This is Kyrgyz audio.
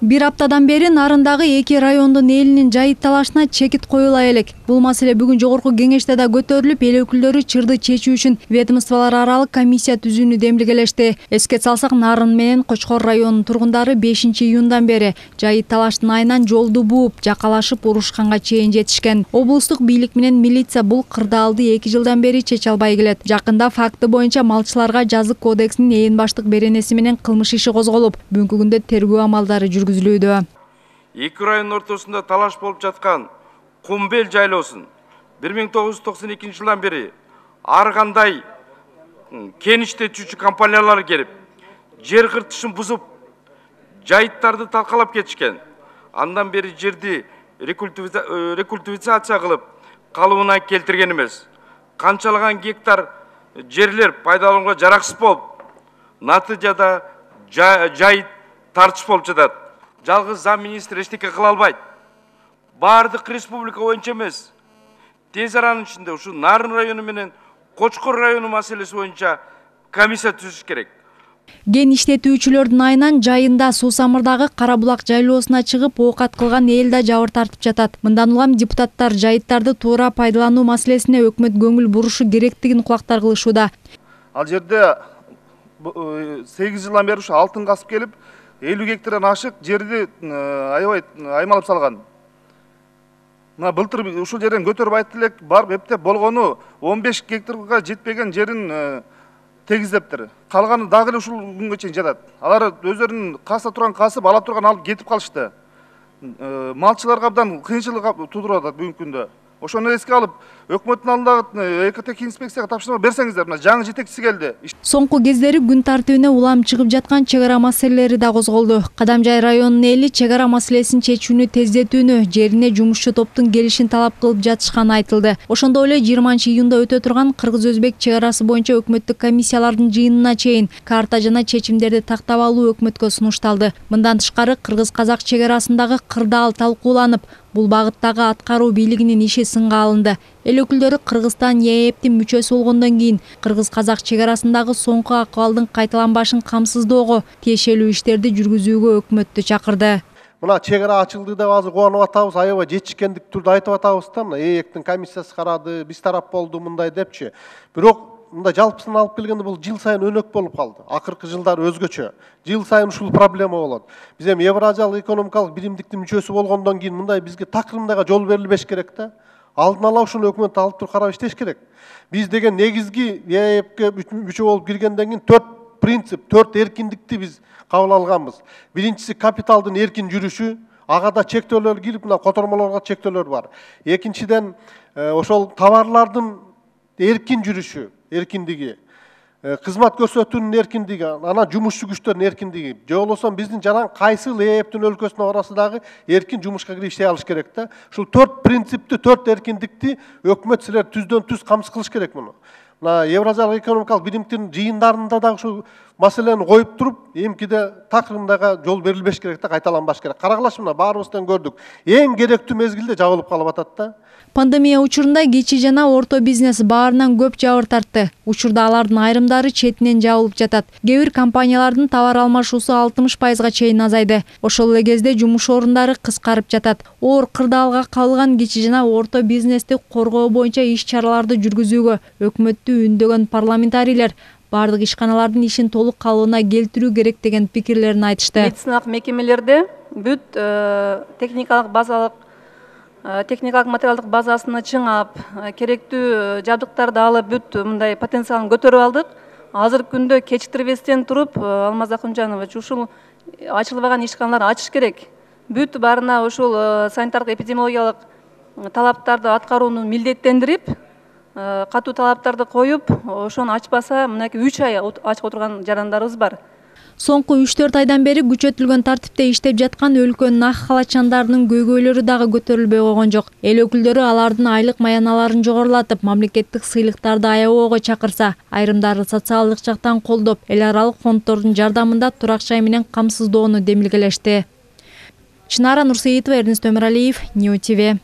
Bir аптадан бери Нарындагы эки райондун элинин жайыт талашына чекит коюла элек. Бул маселе бүгүн жогорку кеңеште да көтөрүлүп, эл өкүлдөрү чырды чечүү үчүн ведомстволор аралык комиссия түзүүнү демилгелешти. Эске салсак, Нарын менен Кочкор районунун тургундары 5-июндан бери жайыт талаштын айынан жолду бууп, жакалашып, урушканга чейин жетишкен. Облустук бийлик менен милиция бул кырдаалды 2 жылдан бери чече албай келет. Жакында факты боюнча малчыларга жазык кодексинин ээн баштык беренеси менен кылмыш иши козголуп, бүгүнкү күндө тергөө амалдары жүргүзүлүүдө. Эки район ортосунда талаш болуп жаткан Кумбел жайлоосун 1992 жылдан бери ар кандай кен иштетүүчү компаниялар келип, жер кыртышын бузуп, жайыттарды талкалап кетишкен. Андан бери жерди рекультивация кылып, калыбына келтирген эмес. Канчалаган гектар жерлер пайдаланууга жараксыз болуп, натыйжада жайыт тартыш болуп жатат. Жалгыз зам министр эчтеке кыла албайт. Бардык республика боюнча эмес, тез аранын ичинде ушу Нарын району менен Кочкор району маселеси боюнча комиссия түзүш керек. Кен иштетүүчүлөрдүн айынан жайында Суусамырдагы Кара булак жайлоосуна чыгып, оокат кылган эл да жабыр тартып жатат. Мындан улам депутаттар жайыттарды туура пайдалануу маселесине өкмөт көңүл бурушу керектигин кулактар кылышууда. Ал жерде 8 жылдан бери ушу алтын касып келип, 50 гектардан ашык жерди аябай аймалап салган. Мына былтыр ушул жерден көтөрүп айтты элек, барып эптеп болгону 15 гектарга жетпеген жерин тегиздептир. Калганы дагы эле ушул күнгө чейин жатат. Алар өздөрүнүн каса турган касып, ала турган алып кетип калышты. Малчыларга абдан кыйынчылык туудуруп атат бүгүнкү күндө. Ошону эске алып, өкмөттүн алдындагы ЭКТК инспекцияга тапшырма берсеңиздер, мына жаңы жетекчиси келди. Соңку кездери күн тартибине улам чыгып жаткан чек ара маселелери да козголду. Кадамжай районунун эли чек ара маселесин чечүүнү тездетүүнү, жерине жумушчу топтун келишин талап кылып жатышканы айтылды. Ошондой эле 20-июнда өтө турган Кыргыз-Өзбек чек арасы боюнча өкмөттүк комиссиялардын жыйынына чейин карта жана чечимдерди тактап алуу өкмөткө сунушталды. Мындан тышкары Кыргыз-Казак чек арасындагы кырдаал талкууланып, бул багыттагы аткаруу бийлигинин иши сынга алынды. Эл өкүлдөрү Кыргызстан ЕЭПтин мүчөсү болгондон кийин Кыргыз-Казак чек арасындагы соңку акыбалдын кайталанбашын камсыздоого тиешелүү иштерди жүргүзүүгө өкмөттү чакырды. Мына чек ара ачылды деп азыр кубанып атабыз, аябай жетишкендик түрдө айтып атабыз да, мына ЭЭПтин комиссиясы карады, биз тарап болду мындай депчи. Бирок мында жалпысын алып келгенде бул жыл сайын өнөк болуп калды. Акыркы жылдары өзгөчө. Жыл сайын ушул проблема болот. Биз эми Евразиялык экономикалык биримдиктин мүчөсү болгондон кийин мындай бизге такырымдайга жол берилбеш керек да. Алдын ала ушуну өкмөт алып туруп карап иштеш керек. Биз деген негизги ЕЭПке мүчө болуп киргенден кийин 4 принцип, 4 эркиндикти биз кабыл алганбыз. Биринчиси капиталдын эркин жүрүшү, ага да чектөөлөр кирип, мына котормолорго чектөөлөр бар. Экинчиден ошол товарлардын эркин жүрүшү, эркиндиги, кызмат көрсөтүүнүн эркиндиги, анан жумушчу күчтөрдүн эркиндиги. Же болбосо биздин жаран кайсыл ЭЭПтин өлкөсүнө барасы дагы эркин жумушка кирип иштей алыш керек да. Ушул 4 принципти, 4 эркиндикти өкмөт силер түздөн түз камсыз кылыш керек муну. Мына Евразиялык экономикалык биримдиктин жыйындарында дагы ушул маселени коюп туруп, эмкиде такырымдайга жол берилбеш керек да, кайталанбаш керек. Карагылаш, мына баарыбыздан көрдүк. Эң керектүү мезгилде жабылып калып атат да. Пандемия учурунда кичи жана орто бизнес баарынан көп жабыр тартты. Учурда алардын айрымдары четинен жабылып жатат. Кээ бир компаниялардын товар алмашуусу 60%га чейин азайды. Ошол эле кезде жумуш орундары кыскарып жатат. Оор кырдаалга кабылган кичи жана орто бизнести коргоо боюнча иш-чараларды жүргүзүүгө өкмөттү үндөгөн парламентарийлер бардык ишканалардын ишин толук калыбына келтирүү керек деген пикирлерин айтышты. Медициналык мекемелерде бүт техникалык материалдык базасыны чыңап, керектүү жабдыктарды алып, бүт мындай потенциалын көтөрүп алдык. Азыркы күндө кечиктирбестен туруп, Алмаз Акунжанович, ушул ачылбаган ишканаларды ачыш керек. Бүт баарына ушул санитардык эпидемиологиялык талаптарды аткарууну милдеттендирип, катуу талаптарды коюп, ошону ачпаса, мынакей 3 ай ачып отурган жарандарыбыз бар. Соңку 3-4 айдан бери күчөтүлгөн тартипте иштеп жаткан өлкөнүн ак халатчандарынын көйгөйлөрү дагы көтөрүлбөй койгон жок. Эл өкүлдөрү алардын айлык маяналарын жогорулатып, мамлекеттик сыйлыктарды аябоого чакырса, айрымдары социалдык жактан колдоп, эл аралык фонддордун жардамында турак жай менен камсыздоону демилгелешти. Чынара Нурсеитова, Эрнест Өмүралиев, Нью ТВ.